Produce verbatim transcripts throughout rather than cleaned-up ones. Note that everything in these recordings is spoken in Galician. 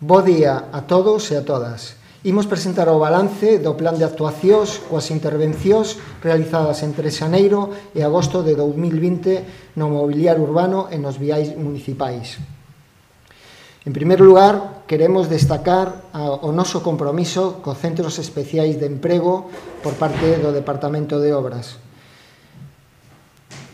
Bo día a todos e a todas. Imos presentar o balance do plan de actuacións coas intervencións realizadas entre xaneiro e agosto de dous mil vinte no mobiliario urbano e nos viais municipais. En primeiro lugar, queremos destacar o noso compromiso cos centros especiais de emprego por parte do Departamento de Obras.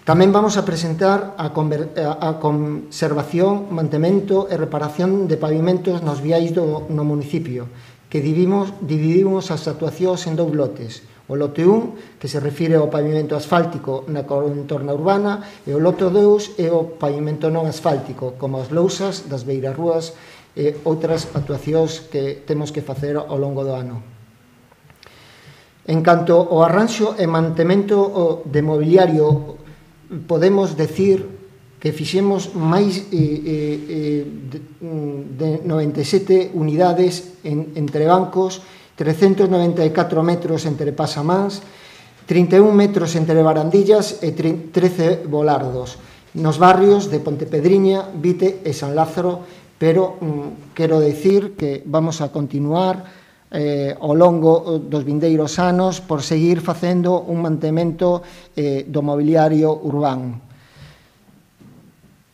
Tamén vamos a presentar a, a conservación, mantemento e reparación de pavimentos nos viais do, no municipio, que dividimos, dividimos as actuacións en dous lotes. O lote un, que se refire ao pavimento asfáltico na contorna urbana, e o lote dous é o pavimento non asfáltico, como as lousas das beirarrúas e outras actuacións que temos que facer ao longo do ano. En canto ao arranxo e mantemento de mobiliario, podemos decir que fixemos máis eh, eh, de, de noventa e sete unidades en, entre bancos, trescentos noventa e catro metros entre pasamans, trinta e un metros entre barandillas e trece volardos, nos barrios de Pontepedriña, Vite e San Lázaro, pero mm, quero decir que vamos a continuar Eh, ao longo dos vindeiros anos por seguir facendo un mantemento eh, do mobiliario urbano.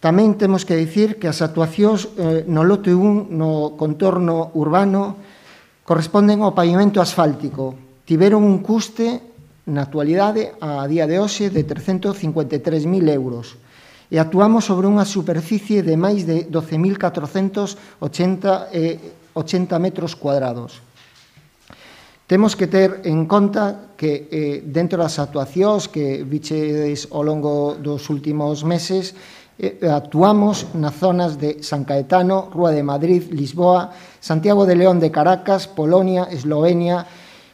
Tamén temos que dicir que as actuacións eh, no lote un no contorno urbano corresponden ao pavimento asfáltico. Tiveron un custe na actualidade a día de hoxe de trescentos cincuenta e tres mil euros e actuamos sobre unha superficie de máis de doce mil catrocentos ochenta metros cuadrados. Temos que ter en conta que eh, dentro das actuacións que vichedes ao longo dos últimos meses eh, actuamos nas zonas de San Caetano, Rúa de Madrid, Lisboa, Santiago de León de Caracas, Polonia, Eslovenia,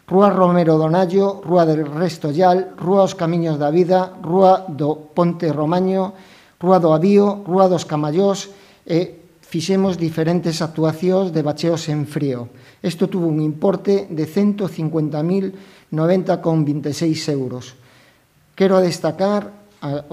Rúa Romero Donallo, Rúa de Restollal, Rúa os Camiños da Vida, Rúa do Ponte Romaño, Rúa do Avío, Rúa dos Camallós e fixemos diferentes actuacións de bacheos en frío. Isto tuvo un importe de ciento cincuenta mil noventa con vinte e seis euros. Quero destacar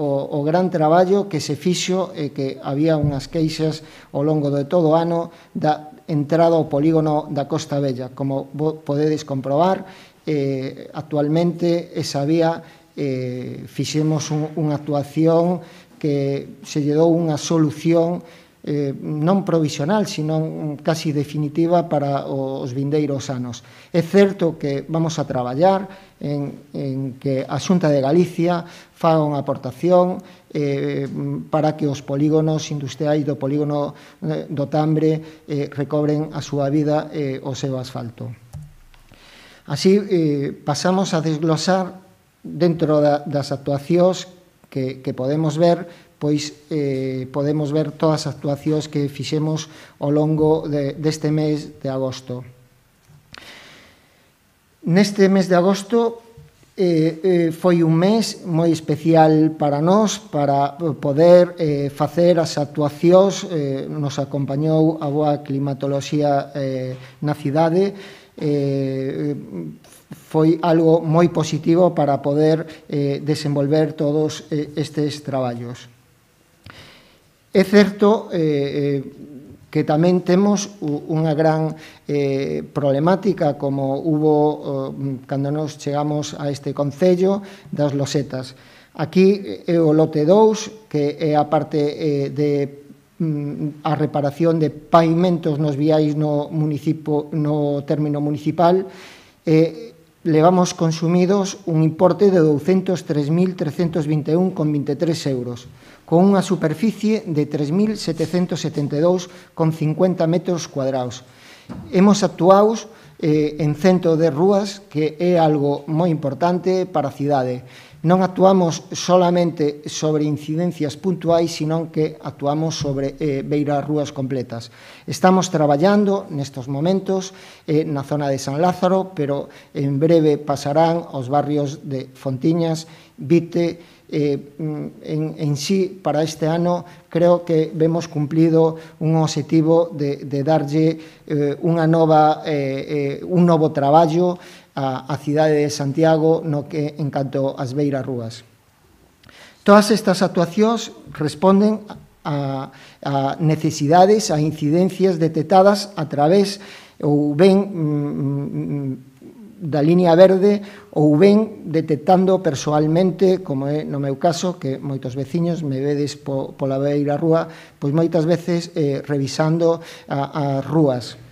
o, o gran traballo que se fixo e que había unhas queixas ao longo de todo o ano da entrada ao polígono da Costa Bella. Como podedes comprobar, eh, actualmente esa vía eh, fixemos un, unha actuación que se lle dou unha solución Eh, non provisional, sino casi definitiva para os vindeiros anos. É certo que vamos a traballar en, en que a Xunta de Galicia faga unha aportación eh, para que os polígonos industriais do polígono eh, do Tambre eh, recobren a súa vida e eh, o seu asfalto. Así, eh, pasamos a desglosar dentro da, das actuacións que, que podemos ver, pois eh, podemos ver todas as actuacións que fixemos ao longo de, deste mes de agosto. Neste mes de agosto eh, eh, foi un mes moi especial para nós, para poder eh, facer as actuacións. Eh, nos acompañou a boa climatoloxía eh, na cidade. Eh, foi algo moi positivo para poder eh, desenvolver todos eh, estes traballos. É certo eh, que tamén temos unha gran eh, problemática como hubo eh, cando nos chegamos a este concello das losetas. Aquí é o lote dous, que é a parte eh, de a reparación de pavimentos nos viais no, municipio, no término municipal. Eh, levamos consumidos un importe de douscentos tres mil trescentos vinte e un con vinte e tres euros, con unha superficie de tres mil setecentos setenta e dous con cincuenta metros cuadrados. Hemos actuado eh, en cento de rúas, que é algo moi importante para a cidade. Non actuamos solamente sobre incidencias puntuais, sino que actuamos sobre eh, beiras rúas completas. Estamos traballando nestes momentos eh, na zona de San Lázaro, pero en breve pasarán aos barrios de Fontiñas, Vite. Eh, en, en sí, para este ano, creo que vemos cumplido un objetivo de, de darlle eh, unha nova, eh, eh, un novo traballo a, a cidade de Santiago no que en canto ás beiras rúas. Todas estas actuacións responden a, a necesidades, a incidencias detectadas a través ou ben mm, da línea verde ou ben detectando persoalmente, como é no meu caso, que moitos veciños me vedes po, pola beira rúa, pois moitas veces eh, revisando a, as rúas.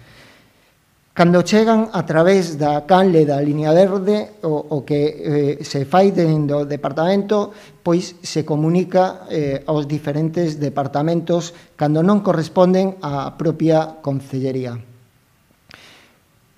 Cando chegan a través da canle da línea verde, o, o que eh, se fai dentro do departamento, pois se comunica eh, aos diferentes departamentos cando non corresponden á propia concellería.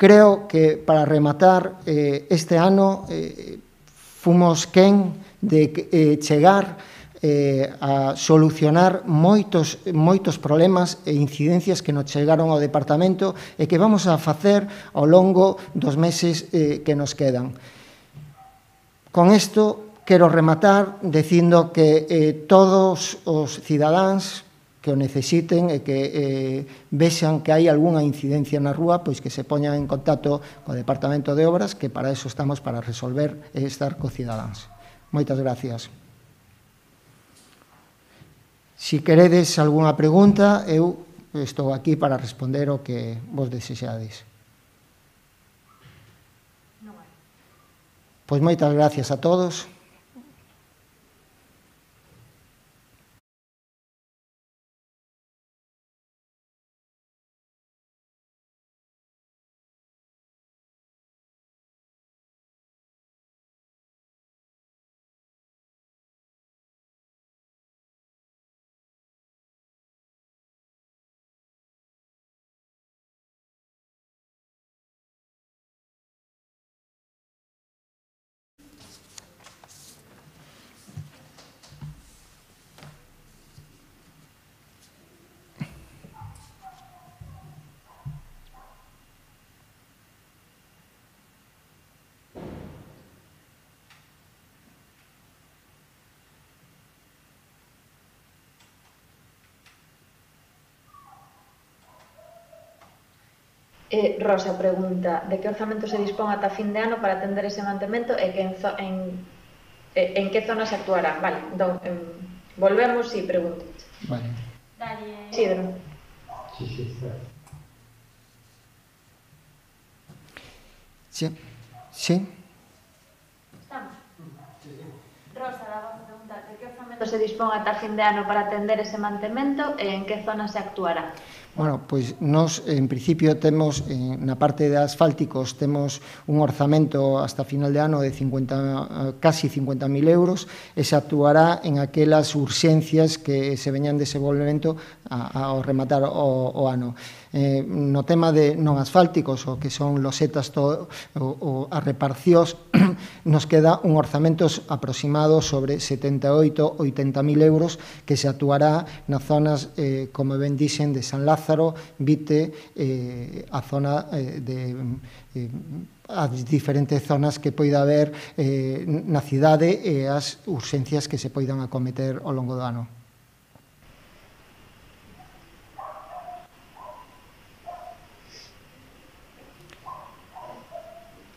Creo que, para rematar, eh, este ano eh, fomos quen de eh, chegar Eh, a solucionar moitos, moitos problemas e incidencias que nos chegaron ao departamento e que vamos a facer ao longo dos meses eh, que nos quedan. Con isto, quero rematar dicindo que eh, todos os cidadáns que o necesiten e que eh, vexan que hai algunha incidencia na rúa, pois que se poñan en contacto co Departamento de Obras, que para eso estamos, para resolver e estar co cidadáns. Moitas gracias. Si queredes algunha pregunta, eu estou aquí para responder o que vos desexades. Pois moitas gracias a todos. Eh, Rosa pregunta, de que orzamento se dispón ata fin de ano para atender ese mantemento e que en, zo, en, en que zonas actuarán? Vale, entón, en, volvemos e pregunto. Vale. Dale, Isidro. Sí, sí, está. Sí, sí. Estamos. Rosa, daba a preguntar, de que orzamento se dispón ata fin de ano para atender ese mantemento e en que zonas se actuará? Bueno, pois nós, en principio, temos, eh, na parte de asfálticos, temos un orzamento hasta final de ano de cincuenta, casi cincuenta mil euros e se actuará en aquelas urxencias que se veñan desenvolvemento ao rematar o, o ano. Eh, no tema de non asfálticos, o que son losetas, todo, o, o as reparcións, nos queda un orzamento aproximado sobre setenta e oito, oitenta mil euros que se actuará nas zonas, eh, como ben dixen, de San Lázaro, Vite, eh, a zona eh, de... Eh, as diferentes zonas que poida haber eh, na cidade e as urxencias que se poidan acometer ao longo do ano.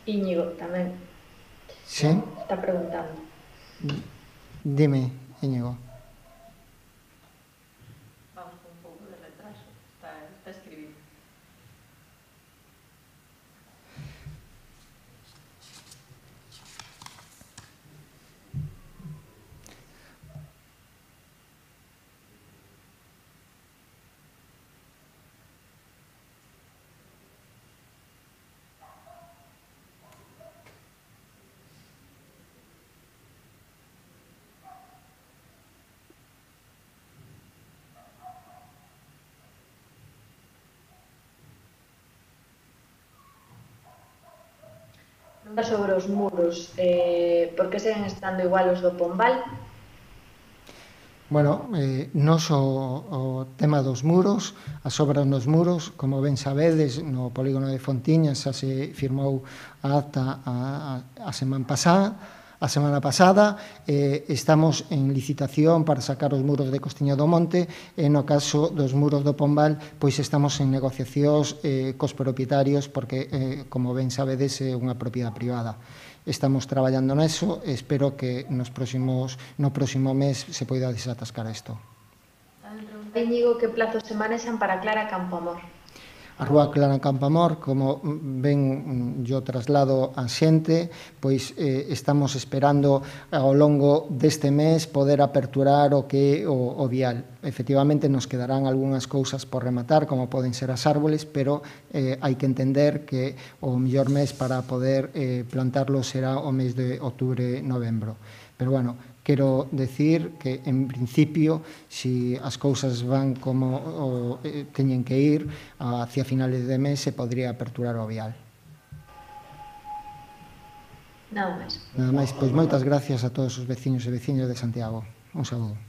Íñigo tamén. Sí? Está preguntando. Dime, Íñigo. Vamos con un pouco de retraso. Está, está escribindo. Sobre os muros, eh, por que seguen estando igual os do Pombal? Bueno, eh, nos o, o tema dos muros, as obras nos muros, como ben sabedes, no polígono de Fontiñas xa se firmou a acta a, a, a semana pasada, a semana pasada, eh, estamos en licitación para sacar os muros de Costiña do Monte e no caso dos muros do Pombal, pois estamos en negociacións eh, cos propietarios porque, eh, como ben sabedes, é unha propiedade privada. Estamos traballando neso e espero que nos próximos, no próximo mes se poida desatascar isto. Tamén Íñigo, que plazos se manexan para Clara Campoamor? A Rúa Clara Campoamor, como ben yo traslado a xente, pois eh, estamos esperando ao longo deste mes poder aperturar o que é o, o vial. Efectivamente, nos quedarán algunhas cousas por rematar, como poden ser as árboles, pero eh, hai que entender que o mellor mes para poder eh, plantarlo será o mes de outubro, novembro. Pero, bueno, quero decir que, en principio, se as cousas van como o, eh, teñen que ir, hacia finales de mes se podría aperturar o vial. Nada máis. Nada máis, pois moitas gracias a todos os veciños e veciñas de Santiago. Un saúdo.